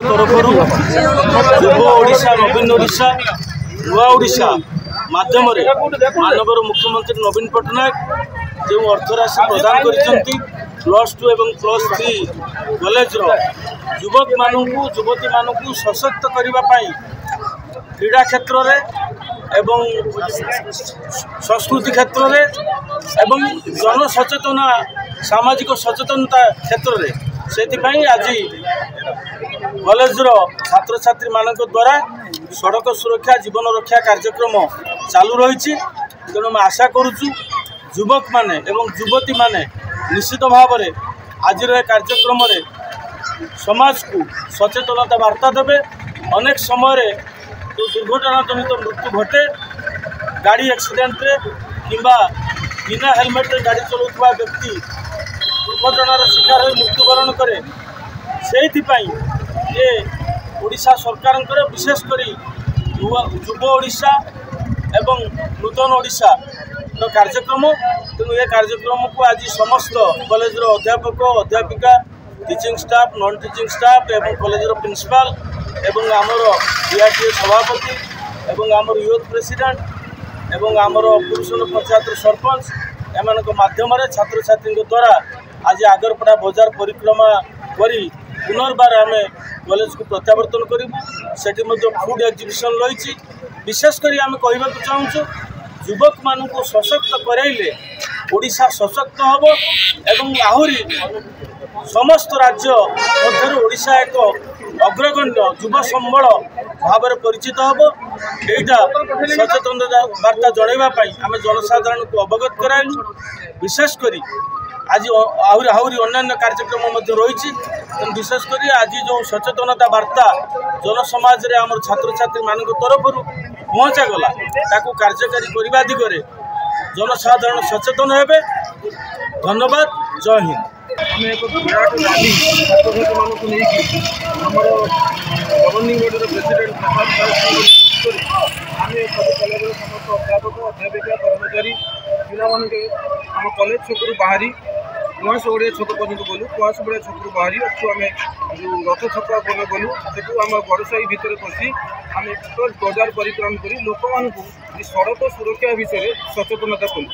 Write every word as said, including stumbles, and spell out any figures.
ତରଫରୁ ଯୁବ ଓଡ଼ିଶା, ନବୀନ ଓଡ଼ିଶା, ନୂଆ ଓଡ଼ିଶା ମାଧ୍ୟମରେ ମାନ୍ୟବର ମୁଖ୍ୟମନ୍ତ୍ରୀ ନବୀନ ପଟ୍ଟନାୟକ ଯେଉଁ ଅର୍ଥରାଶି ପ୍ରଦାନ କରିଛନ୍ତି, ପ୍ଲସ୍ ଟୁ ଏବଂ ପ୍ଲସ୍ ଥ୍ରୀ କଲେଜର ଯୁବକମାନଙ୍କୁ, ଯୁବତୀମାନଙ୍କୁ ସଶକ୍ତ କରିବା ପାଇଁ କ୍ରୀଡ଼ା କ୍ଷେତ୍ରରେ ଏବଂ ସଂସ୍କୃତି କ୍ଷେତ୍ରରେ ଏବଂ ଜନସଚେତନା, ସାମାଜିକ ସଚେତନତା କ୍ଷେତ୍ରରେ, ସେଥିପାଇଁ ଆଜି କଲେଜର ଛାତ୍ରଛାତ୍ରୀମାନଙ୍କ ଦ୍ୱାରା ସଡ଼କ ସୁରକ୍ଷା ଜୀବନ ରକ୍ଷା କାର୍ଯ୍ୟକ୍ରମ ଚାଲୁ ରହିଛି। ତେଣୁ ଆମେ ଆଶା କରୁଛୁ ଯୁବକମାନେ ଏବଂ ଯୁବତୀମାନେ ନିଶ୍ଚିତ ଭାବରେ ଆଜିର ଏ କାର୍ଯ୍ୟକ୍ରମରେ ସମାଜକୁ ସଚେତନତା ବାର୍ତ୍ତା ଦେବେ। ଅନେକ ସମୟରେ ଯେଉଁ ଦୁର୍ଘଟଣାଜନିତ ମୃତ୍ୟୁ ଘଟେ ଗାଡ଼ି ଆକ୍ସିଡେଣ୍ଟରେ, କିମ୍ବା ବିନା ହେଲମେଟ୍ରେ ଗାଡ଼ି ଚଲାଉଥିବା ବ୍ୟକ୍ତି ଦୁର୍ଘଟଣାର ଶିକାର ହୋଇ ମୃତ୍ୟୁବରଣ କରେ, ସେଇଥିପାଇଁ ଏ ଓଡ଼ିଶା ସରକାରଙ୍କର ବିଶେଷ କରି ଯୁବ ଓଡ଼ିଶା ଏବଂ ନୂତନ ଓଡ଼ିଶାର କାର୍ଯ୍ୟକ୍ରମ। ତେଣୁ ଏ କାର୍ଯ୍ୟକ୍ରମକୁ ଆଜି ସମସ୍ତ କଲେଜର ଅଧ୍ୟାପକ, ଅଧ୍ୟାପିକା, teaching staff, non teaching staff ଏବଂ କଲେଜର ପ୍ରିନ୍ସିପାଲ ଏବଂ ଆମର ଡିଆର୍ଡିଏ ସଭାପତି ଏବଂ ଆମର ୟୁଥ୍ ପ୍ରେସିଡେଣ୍ଟ ଏବଂ ଆମର ପୁରୁଷନ ପଞ୍ଚାୟତର ସରପଞ୍ଚ, ଏମାନଙ୍କ ମାଧ୍ୟମରେ ଛାତ୍ରଛାତ୍ରୀଙ୍କ ଦ୍ୱାରା ଆଜି ଆଗରପଡ଼ା ବଜାର ପରିକ୍ରମା କରି ପୁନର୍ବାର ଆମେ କଲେଜକୁ ପ୍ରତ୍ୟାବର୍ତ୍ତନ କରିବୁ। ସେଠି ମଧ୍ୟ ଫୁଡ୍ ଏକ୍ଜିବିସନ୍ ରହିଛି। ବିଶେଷ କରି ଆମେ କହିବାକୁ ଚାହୁଁଛୁ, ଯୁବକମାନଙ୍କୁ ସଶକ୍ତ କରାଇଲେ ଓଡ଼ିଶା ସଶକ୍ତ ହେବ ଏବଂ ଆହୁରି ସମସ୍ତ ରାଜ୍ୟ ମଧ୍ୟରୁ ଓଡ଼ିଶା ଏକ ଅଗ୍ରଗଣ୍ୟ ଯୁବ ସମ୍ବଳ ଭାବରେ ପରିଚିତ ହେବ। ଏଇଟା ସଚେତନତା ବାର୍ତ୍ତା ଜଣାଇବା ପାଇଁ ଆମେ ଜନସାଧାରଣଙ୍କୁ ଅବଗତ କରାଇଲୁ। ବିଶେଷ କରି ଆଜି ଆହୁରି ଆହୁରି ଅନ୍ୟାନ୍ୟ କାର୍ଯ୍ୟକ୍ରମ ମଧ୍ୟ ରହିଛି। ତେଣୁ ବିଶେଷ କରି ଆଜି ଯେଉଁ ସଚେତନତା ବାର୍ତ୍ତା ଜନସମାଜରେ ଆମର ଛାତ୍ରଛାତ୍ରୀମାନଙ୍କ ତରଫରୁ ପହଞ୍ଚାଗଲା, ତାକୁ କାର୍ଯ୍ୟକାରୀ କରିବା ଦିଗରେ ଜନସାଧାରଣ ସଚେତନ ହେବେ। ଧନ୍ୟବାଦ, ଜୟ ହିନ୍ଦ। ଆମେ ଏକ ବିରାଟ ରାଲି ଛାତ୍ରଛାତ୍ରୀମାନଙ୍କୁ ନେଇକି ଆମର ଗଭର୍ଣ୍ଣିଂ ବଡ଼ିର ପ୍ରେସିଡେଣ୍ଟ ପ୍ରସାଦ ଦାସଙ୍କ ନେତୃତ୍ୱରେ ଆମେ ସବୁ କଲେଜର ସମସ୍ତ ଅଧ୍ୟାପକ, ଅଧ୍ୟାପିକା, କର୍ମଚାରୀ, ପିଲାମାନଙ୍କୁ ଆମ କଲେଜ ଛକରୁ ବାହାରି କୁଆଁସଗଡ଼ିଆ ଛକ ପର୍ଯ୍ୟନ୍ତ ଗଲୁ। କୁଆଁସଗଡ଼ିଆ ଛକରୁ ବାହାରି ଅଛୁ ଆମେ ଯେଉଁ ରଥ ଛକ ପର୍ଯ୍ୟନ୍ତ ଗଲୁ। ସେଠୁ ଆମ ଗଡ଼ସାହି ଭିତରେ ପଶି ଆମେ ବଜାର ପରିକ୍ରମା କରି ଲୋକମାନଙ୍କୁ ଏ ସଡ଼କ ସୁରକ୍ଷା ବିଷୟରେ ସଚେତନତା କଲୁ।